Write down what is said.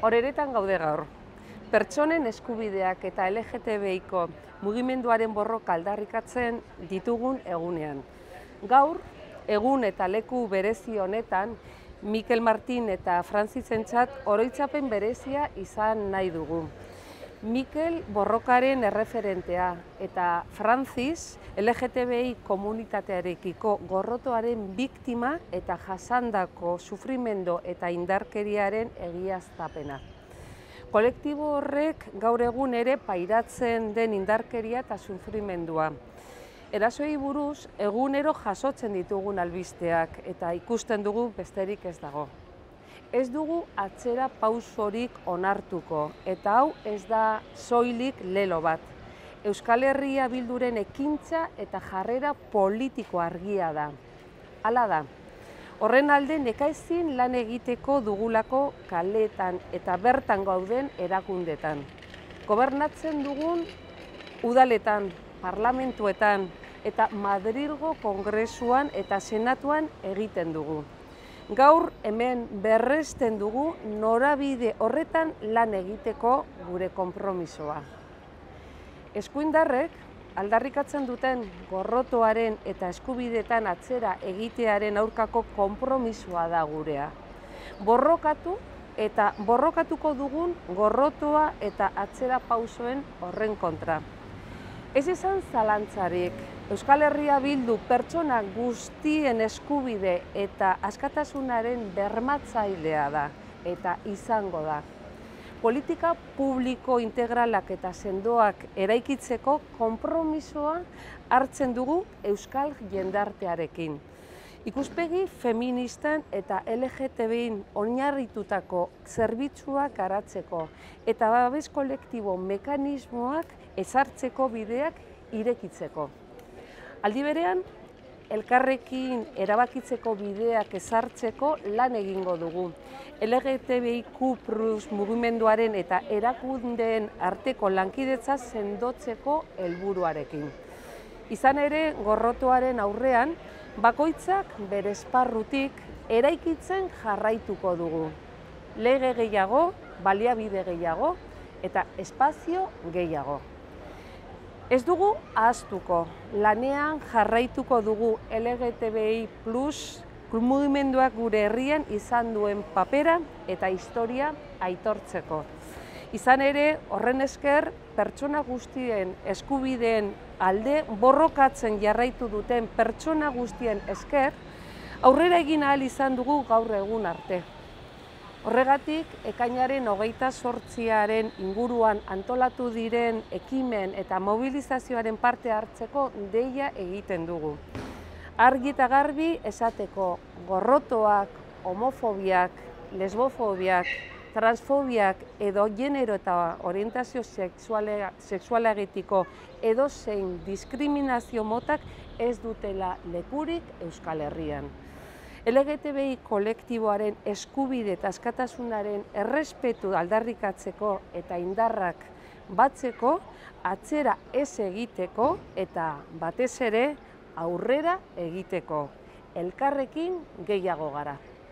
Horeretan gaude gaur. Pertsonen eskubideak eta LGTBIko mugimenduaren borroka aldarrikatzen ditugun egunean. Gaur, egun eta leku berezi honetan, Mikel Martin eta Frantzisentzat oroitzapen berezia izan nahi dugu. Mikel borrokaren erreferentea eta Frantziz LGTBI komunitatearekiko gorrotoaren biktima eta jasandako sufrimendu eta indarkeriaren egiaztapena. Kolektibo horrek gaur egun ere pairatzen den indarkeria eta sufrimendua. Erasoei buruz egunero jasotzen ditugun albisteak eta ikusten dugu besterik ez dago. Ez dugu atzera pausorik onartuko eta hau ez da soilik lelo bat. Euskal Herria Bilduren ekintza eta jarrera politiko argia da. Hala da. Horren alde nekaezin lan egiteko dugulako kaletan eta bertan gauden erakundetan. Gobernatzen dugun udaletan, parlamentuetan eta Madrilgo Kongresuan eta Senatuan egiten dugu. Gaur hemen berresten dugu norabide horretan lan egiteko gure konpromisoa. Eskuindarrek aldarrikatzen duten gorrotoaren eta eskubideetan atzera egitearen aurkako konpromisoa da gurea. Borrokatu eta borrokatuko dugun gorrotoa eta atzera pausoen horren kontra. Ez izan zalantzarik, Euskal Herria Bildu pertsona guztien eskubide eta askatasunaren bermatzailea da eta izango da. Politika publiko integralak eta sendoak eraikitzeko konpromisoa hartzen dugu euskal jendartearekin. Ikuspegi feministan eta LGTBIn oinarritutako zerbitzuak garatzeko eta babes kolektibo mekanismoak ezartzeko bideak irekitzeko. Aldi berean, elkarrekin erabakitzeko bideak ezartzeko lan egingo dugu. LGTBIQ+ mugimenduaren eta erakundeen arteko lankidetza sendotzeko helburuarekin. Izan ere, gorrotoaren aurrean, bakoitzak bere esparrutik eraikitzen jarraituko dugu. Lege gehiago, baliabide gehiago eta espazio gehiago. Ez dugu ahaztuko, lanean jarraituko dugu LGTBI+ mugimenduak gure herrian izan duen papera eta historia aitortzeko. Izan ere, horren esker, pertsona guztien eskubideen alde borrokatzen jarraitu duten pertsona guztien esker, aurrera egin ahal izan dugu gaur egun arte. Horregatik, ekainaren 28 inguruan antolatu diren ekimen eta mobilizazioaren parte hartzeko deia egiten dugu. Argi eta garbi esateko gorrotoak, homofobiak, lesbofobiak, transfobiak edo genero eta orientazio sexualagetiko edozein diskriminazio motak ez dutela lekurik Euskal Herrian. LGTBI kolektiboaren eskubide eta askatasunaren errespetu aldarrikatzeko eta indarrak batzeko, atzera ez egiteko eta batez ere aurrera egiteko. Elkarrekin gehiago gara.